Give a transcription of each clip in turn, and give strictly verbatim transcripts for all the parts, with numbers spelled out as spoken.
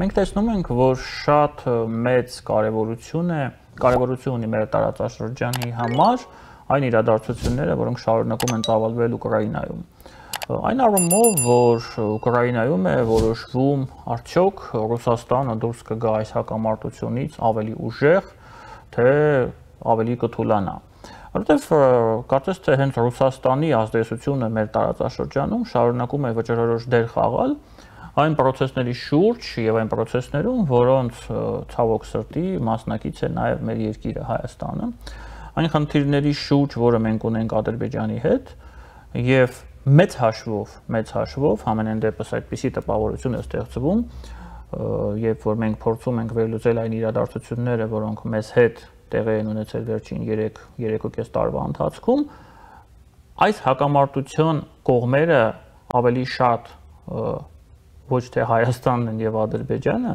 մենք տեսնում ենք, որ շատ մեծ կարևորություն է, կարևորություն ունի մեր տարածաշրջանի համար այն իրադարձությունները, որոնք շարունակում են ծավալվել Ուկրաինայում։ Այն առումով, որ Ուկրաինայում է որոշվում արդյոք Ռուսաստանը դուրս կգա այս հակամարտությունից ավելի ուժեղ, թե ավելի կթուլանա։ Որովհետև կարծես թե հենց Ռուսաստանի ազդեցությունը մեր տարածաշրջանում շարունակում է վճռորոշ դեր խաղալ այն պրոցեսների շուրջ եւ այն պրոցեսներում, որոնց ցավոք սրտի մասնակից է նաեւ մեր երկիրը Հայաստանը, այն խնդիրների շուրջ, որը մենք ունենք Ադրբեջանի հետ, եւ մեծ հաշվով, մեծ հաշվով ամենայն դեպս այդպիսի տպավորություն է ստեղծվում, երբ որ մենք փորձում ենք վերլուծել այն իրադարձությունները, որոնք մեզ հետ տեղի են ունեցել վերջին երեք երեքուկես տարվա ընթացքում, այս հակամարտության կողմերը ավելի շատ ոչ թե Հայաստանն են եւ Ադրբեջանը,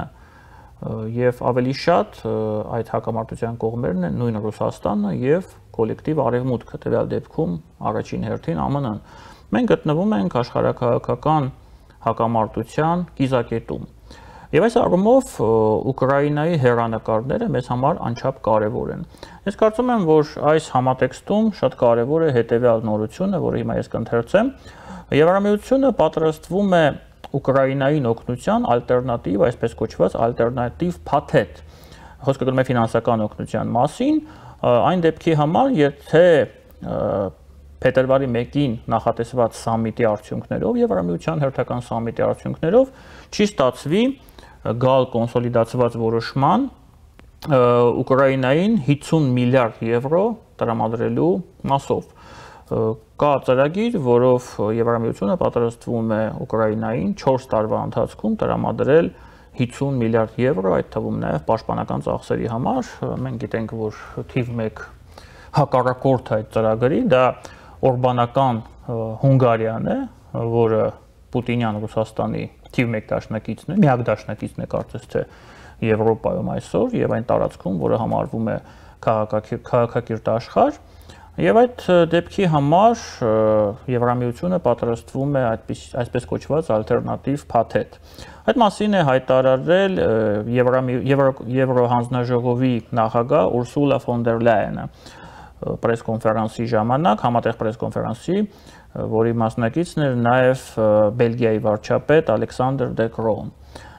եւ ավելի շատ այդ հակամարտության կողմերն են նույն Ռուսաստանը եւ կոլեկտիվ Արևմուտքը, տվյալ դեպքում առաջին հերթին ԱՄՆ -ն։ Մենք գտնվում ենք աշխարհաքաղաքական հակամարտության կիզակետում։ Եվ այս առումով Ուկրաինայի հեռանկարները մեզ համար անչափ կարևոր են։ Ես կարծում եմ, որ այս համատեքստում շատ կարևոր է հետեւյալ նորությունը, որը հիմա ես կընթերցեմ։ Եվրամիությունը պատրաստվում է Ուկրաինային օգնության ալտերնատիվ, այսպես կոչված ալտերնատիվ փաթեթ։ Խոսքը գնում է ֆինանսական օգնության մասին, այն դեպքի համար, եթե փետրվարի մեկին նախատեսված սամիտի արդյունքներով, Եվրամիության հերթական սամիտի արդյունքներով չի ստացվի գալ կոնսոլիդացված որոշման Ուկրաինային հիսուն միլիարդ եվրո տրամադրելու մասով։ Կա ծրագիր, որով Եվրամիությունը պատրաստվում է Ուկրաինային չորս տարվա ընթացքում տրամադրել հիսուն միլիարդ եվրո, այդ թվում նաև պաշտպանական ծախսերի համար։ Մենք գիտենք, որ թիվ մեկ հակառակորդը այդ ծրագրի դա օրբանական Հունգարիան է, որը Պուտինյան Ռուսաստանի թիվ մեկ դաշնակիցն է, միակ դաշնակիցն է կարծես թե Եվրոպայում այսօր եւ այն տարածքում, որը համարվում է քաղաքակիրթ աշխարհ, եւ այդ դեպքի համար Եվրամիությունը պատրաստվում է այդպես այսպես կոչված ալտերնատիվ փաթեթ։ Այդ մասին է հայտարարել Եվրոհանձնաժողովի նախագահ Ուրսուլա ֆոն դեր Լայենը պրեսկոնֆերանսի ժամանակ, համատեղ պրեսկոնֆերանսի, որի մասնակիցն էր նաև Բելգիայի վարչապետ Ալեքսանդր դե Կրոն։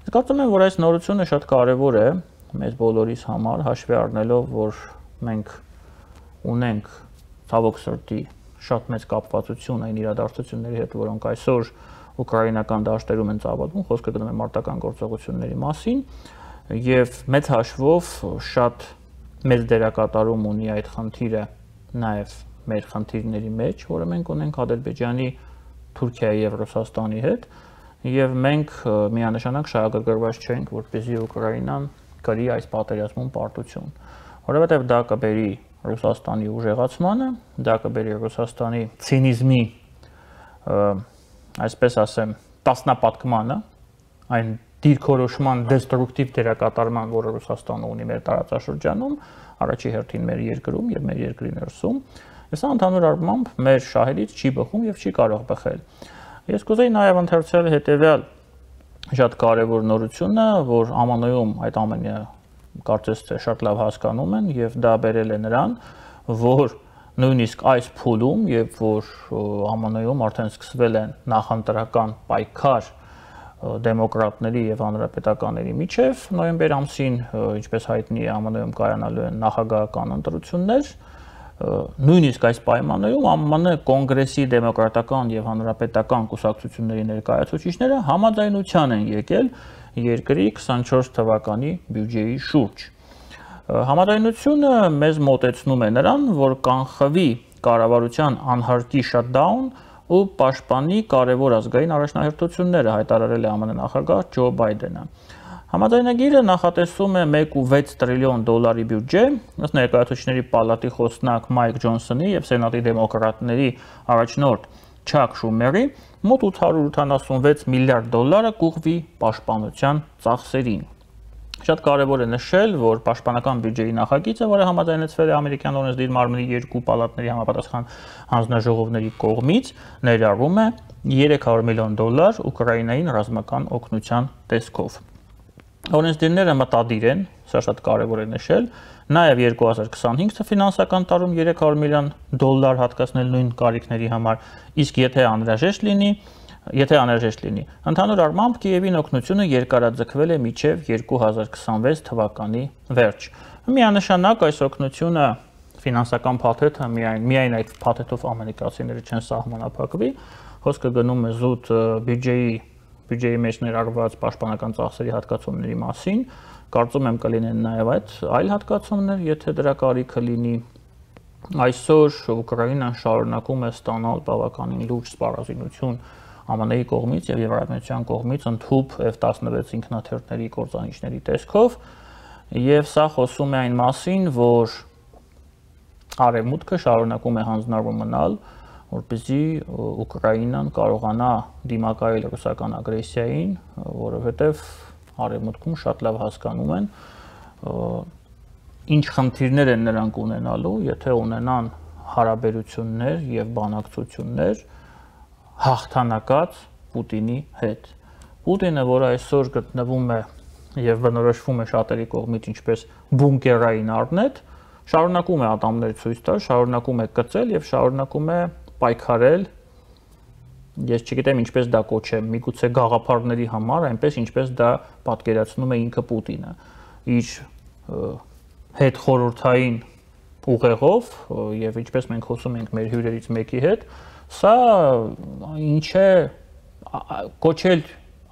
Ես կարծում եմ, որ այս նորությունը շատ կարևոր է մեզ բոլորիս համար, հաշվի առնելով, որ մենք ունենք ցավոք սրտի շատ մեծ կապվածություն այն իրադարձությունների հետ, որոնք այսօր ուկրաինական դաշտերում են ծավալվում, խոսքը գնում է մարտական գործողությունների մասին, եւ մեծ հաշվով շատ մեծ դերակատարում ունի այդ խնդիրը նաև մեր խնդիրների մեջ, որը մենք ունենք Ադրբեջանի, Թուրքիայի եւ Ռուսաստանի հետ, եւ մենք միանշանակ շահագրգռված չենք, որպեսզի Ուկրաինան կրի այս պատերազմում պարտություն, որովհետեւ դա կբերի Ռուսաստանի ուժեղացմանը, դա կբերի Ռուսաստանի ցինիզմի, այսպես ասեմ, տասնապատկմանը, այն դիրքորոշման դեստրուկտիվ դերակատարման, որը Ռուսաստանը ունի մեր տարածաշրջանում, առաջի հերթին մեր երկրում եւ մեր երկրի ներսում, սա ընդհանուր առմամբ մեր շահերից չի բխում եւ չի կարող բխել։ Ես կուզեի նաեւ ընթերցել հետեւյալ շատ կարեւոր նորությունը, որ ԱՄՆ-ում այդ ամենը կարծես թե շատ լավ հասկանում են եւ դա բերել է նրան, որ նույնիսկ այս փուլում, երբ որ ԱՄՆ-ում արդեն սկսվել են նախընտրական պայքար դեմոկրատների եւ հանրապետականների միջև, նոյեմբեր ամսին, ինչպես հայտնի է, ԱՄՆ-ում կայանալու են նախագահական ընտրություններ, նույնիսկ այս պայմաններում ԱՄՆ կոնգրեսի դեմոկրատական եւ հանրապետական կուսակցությունների ներկայացուցիչները համաձայնության են եկել երկրի քսանչորս թվականի բյուջեի շուրջ։ Համաձայնությունը մեզ մոտեցնում է նրան, որ կանխվի կառավարության անհարկի շատդաուն ու պաշտպանի կարևոր ազգային առաջնահերթությունները, հայտարարել է ԱՄՆ նախագահ Ջո Բայդենը։ Համաձայնագիրը նախատեսում է մեկ կόμμα վեց տրիլիոն դոլարի բյուջե, ըստ ներկայացուցիչների պալատի խոսնակ Մայք Ջոնսոնի եւ Սենատի դեմոկրատների առաջնորդ Չակ Շումերի, մոտ ութ հարյուր ութանասունվեց միլիարդ դոլարը կուղվի պաշտպանության ծախսերին։ Շատ կարևոր է նշել, որ պաշտպանական բյուջեի նախագիծը, որը համաձայնեցվել է ամերիկյան օրենսդիր մարմնի երկու պալատների համապատասխան հանձնաժողովների կողմից, ներառում է երեք հարյուր միլիոն դոլար Ուկրաինային ռազմական օգնության տեսքով։ Օրենսդիրները մտադիր են, սա շատ կարևոր է նշել, նաև երկու հազար քսանհինգ ֆինանսական տարում երեք հարյուր միլիոն դոլար հատկացնել նույն կարիքների համար, իսկ եթե անհրաժեշտ լինի, եթե անհրաժեշտ լինի, ընդհանուր առմամբ Կիևին օգնությունը երկարաձգվել է մինչև երկու հազար քսանվեց թվականի վերջ։ Միանշանակ այս օգնությունը ֆինանսական փաթեթը միայն միայն այդ փաթեթով ամերիկացիները չեն սահմանափակվի, խոսքը գնում է զուտ բյուջեի բյուջեի մեջ ներառված պաշտպանական ծախսերի հատկացումների մասին, կարծում եմ կլինեն նաև այդ այլ հատկացումներ, եթե դրա կարիքը լինի։ Այսօր Ուկրաինան շարունակում է ստանալ բավականին լուրջ սպառազինություն ԱՄՆ-ի կողմից եւ Եվրամիության կողմից ընդհուպ F տասնվեց ինքնաթիռների կործանիչների տեսքով, եւ սա խոսում է այն մասին, որ Արևմուտքը շարունակում է հանձնառու մնալ, որպեսզի Ուկրաինան կարողանա դիմակայել ռուսական ագրեսիային, որովհետև Արևմուտքում շատ լավ հասկանում են ինչ խնդիրներ են նրանք ունենալու, եթե ունենան հարաբերություններ եւ բանակցություններ հաղթանակած Պուտինի հետ։ Պուտինը, որ այսօր գտնվում է եւ բնորոշվում է շատերի կողմից ինչպես բունկերային առնետ, շարունակում է ատամներ ցույց տալ, շարունակում է կծել եւ շարունակում է պայքարել, ես չգիտեմ ինչպես դա կոչեմ, միգուցե գաղափարների համար, այնպես ինչպես դա պատկերացնում է ինքը Պուտինը, իր հետ խորհրդային ուղեղով եւ ինչպես մենք խոսում ենք մեր հյուրերից մեկի հետ, սա ինչ է կոչել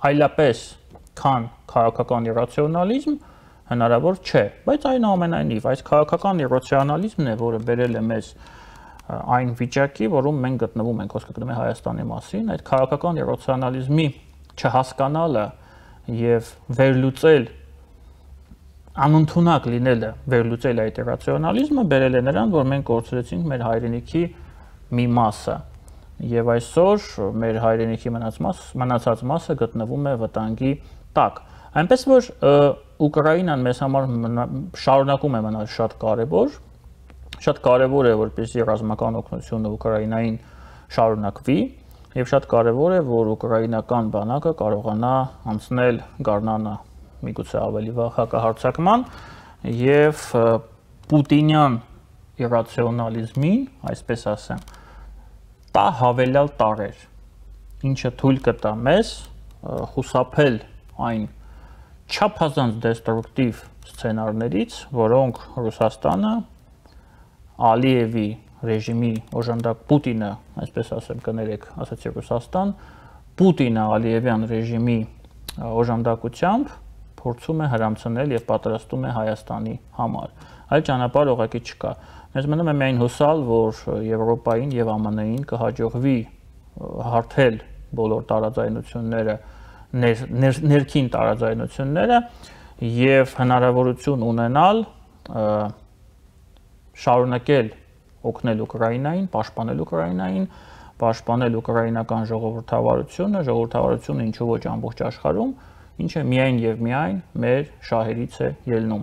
այլապես քան քաղաքական իրացիոնալիզմ հնարավոր չէ, բայց այնուամենայնիվ այս քաղաքական իրացիոնալիզմն է, որը բերել է մեզ այն վիճակի, որում մենք գտնվում ենք, խոսքը գնում է Հայաստանի մասին, այդ քաղաքական իրացիոնալիզմի չհասկանալը եւ վերլուծել անընդունակ լինելը, վերլուծել այդ իրացիոնալիզմը բերել է նրան, որ մենք կորցրեցինք մեր հայրենիքի մի մասը եւ այսօր մեր հայրենիքի մնացած մասը գտնվում է վտանգի տակ։ Այնպես որ Ուկրաինան մեզ համար շարունակում է մնալ շատ կարևոր, շատ կարևոր է, որպեսզի ռազմական օգնությունը Ուկրաինային շարունակվի եւ շատ կարևոր է, որ ուկրաինական բանակը կարողանա անցնել գարնանը միգուցե ավելի վաղ հակահարձակման եւ պուտինյան իրացիոնալիզմին, այսպես ասեմ, տա հավելյալ տարեր, ինչը թույլ կտա մեզ խուսափել այն չափազանց դեստրուկտիվ սցենարներից, որոնք Ռուսաստանը Ալիևի ռեժիմի օժանդակ Պուտինը, այսպես ասեմ, կներեք, ասացի Ռուսաստան, Պուտինը Ալիևյան ռեժիմի օժանդակությամբ փորձում է հրամցնել եւ պատրաստում է Հայաստանի համար։ Այլ ճանապարհ ուղղակի չկա։ Մեզ մնում է միայն հուսալ, որ Եվրոպային եւ ԱՄՆ-ին կհաջողվի հարթել բոլոր տարաձայնությունները, ներ, ներ, ներքին տարաձայնությունները եւ հնարավորություն ունենալ շարունակել օգնել Ուկրաինային, պաշտպանել Ուկրաինային, պաշտպանել ուկրաինական ժողովրդավարությունը, ժողովրդավարությունը ինչու ոչ ամբողջ աշխարհում, ինչը միայն եւ միայն մեր շահերից է ելնում։